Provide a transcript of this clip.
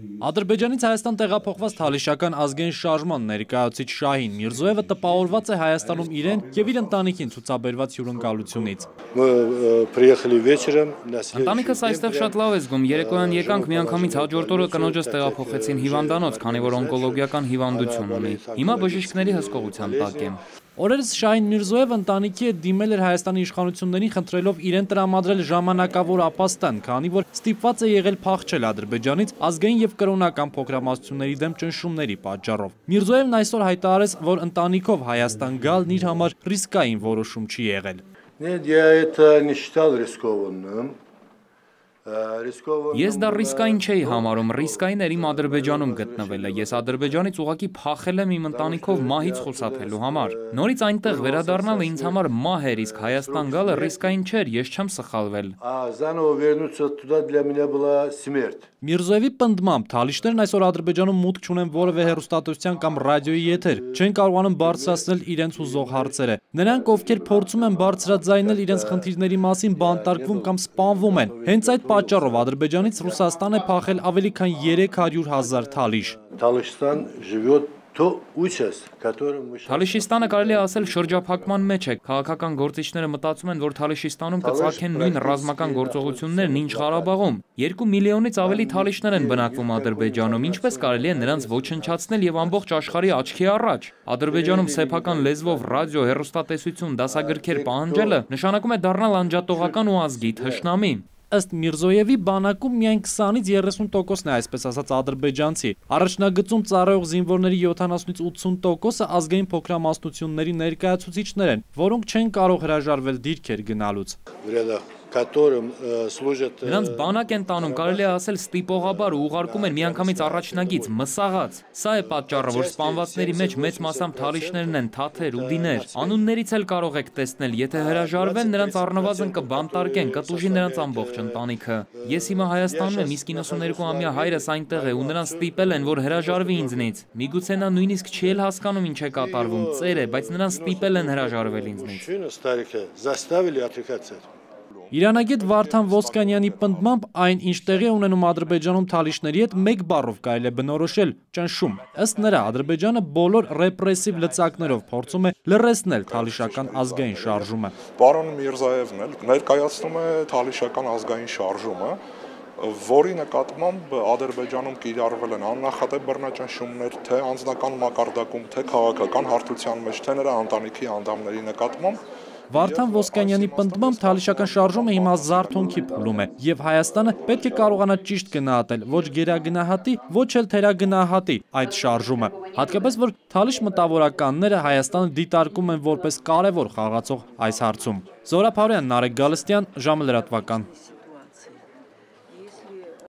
Ադրբեջանից Հայաստան տեղափոխված թալիշական ազգային շարժման ներկայացուցիչ Շահին Միրզոևը տպավորված է Հայաստանում իրեն եւ իր ընտանիքին ցուցաբերված հյուրընկալությունից։ Ընտանիքս այստեղ շատ լավ է զգում, երեկոյան եկանք միանգամից հաջորդ օրը կնոջս տեղափոխեցին հիվանդանոց, քանի որ օնկոլոգիական հիվանդություն ունի։ Հիմա բժիշկների հսկողության տակ եմ։ Օրերս Շահին Միրզոևը ընտանիքի հետ դիմել էր Հայաստանի իշխանություններին խնդրելով իրեն տրամադրել ժամանակավոր ապաստան, քանի որ ստիպված է եղել փախչել Ադրբեջանից ազգային եւ կրոնական փոքրամասնությունների դեմ ճնշումների պատճառով։ Միրզոևն այսօր հայտարարեց, որ ընտանիքով Հայաստան գալն իր համար ռիսկային որոշում չի եղել։ Ես դա ռիսկային չէի համարում, ռիսկային էր իմ Ադրբեջանում գտնվելը, ես Ադրբեջանից ուղղակի փախել եմ իմ ընտանիքով մահից խուսափելու համար։ Նորից այնտեղ վերադառնալը ինձ համար մահ էր, իսկ Հայաստան գալը ռիսկային չէր, ես չեմ սխալվել։ Միրզոևի պնդմամբ թալիշներն այսօր Ադրբեջանում մուտք չունեն որևէ հեռուստատեսության կամ ռադիոյի եթեր, չեն կարողանում բարձրացնել իրենց ուզող հարցերը։ Նրանք, ովքեր փորձում են բարձրաձայնել իրենց խնդիրների մասին, բանտարկվում կամ սպանվում են։ Հենց այդ պատճառով Ադրբեջանից Ռուսաստան է փախել ավելի քան 300,000 թալիշ։ Թալիշիստանը կարելի է ասել շրջափակման մեջ է, քաղաքական գործիչները մտածում են, որ Թալիշիստանում կծագեն նույն ռազմական գործողություններն, ինչ Ղարաբաղում։ 2 միլիոնից ավելի թալիշներ են բնակվում Ադրբեջանում, ինչպես կարելի է նրանց ոչնչացնել եւ ամբողջ աշխարհի աչքի առաջ։ Ադրբեջանում սեփական լեզվով ռադիո, հեռուստատեսություն, դասագրքեր պահանջելը նշանակում է դառնալ անջատողական ու ազգի թշնամի։ Ըստ Միրզոևի բանակում միայն 20-ից 30%-ն է այսպես ասած ադրբեջանցի։ Առաջնագծում ծառայող զինվորների 70-ից 80%-ը ազգային փոքրամասնությունների ներկայացուցիչներ են, որոնք չեն կարող հրաժարվել դիրքեր գնալուց։ Նրանց բանակ են տանում, կարելի է ասել ստիպողաբար ու ուղարկում են միանգամից առաջնագիծ, մսաղաց։ Սա է պատճառը, որ սպանվածների մեջ մեծ մասամբ թալիշներն են, թաթեր, ուդիներ։ Անուններից էլ կարող եք տեսնել, եթե հրաժարվեն, նրանց առնվազն կբանտարկեն, կտուժի նրանց ամբողջ ընտանիքը։ Ես հիմա Հայաստանում եմ, իսկ 92-ամյա հայրս այնտեղ է ու նրան ստիպել են, որ հրաժարվի ինձնից։ Միգուցե նա նույնիսկ չի էլ հասկանում ինչ է կատարվում, ծեր է, բայց նրան ստիպել են հրաժարվել ինձնից։ Իրանագետ Վարդան Ոսկանյանի պնդմամբ այն, ինչ տեղի է ունենում Ադրբեջանում թալիշների հետ, մեկ բառով կարելի է բնորոշել՝ ճնշում։ Ըստ նրա, Ադրբեջանը բոլոր ռեպրեսիվ լծակներով փորձում է լռեցնել թալիշական ազգային շարժումը։ Պարոն Միրզոևն էլ ներկայացնում է թալիշական ազգային շարժումը, որի նկատմամբ Ադրբեջանում կիրառվել են աննախադեպ բռնաճնշումներ, թե անձնական մակարդակում, թե քաղաքական հարթության մեջ, թե նրա ընտանիքի անդամների նկատմամբ։ Վարդան Ոսկանյանի պնդմամբ թալիշական շարժումը հիմա զարթոնքի փուլում է, եւ Հայաստանը պետք է կարողանա ճիշտ գնահատել, ոչ գերագնահատի, ոչ էլ թերագնահատի այդ շարժումը։ Հատկապես որ թալիշ մտավորականները Հայաստանը դիտարկում են որպես կարևոր խաղացող այս հարցում։ Զորապ Հարոյան, Նարեկ Գալստյան, ժամը լրատվական։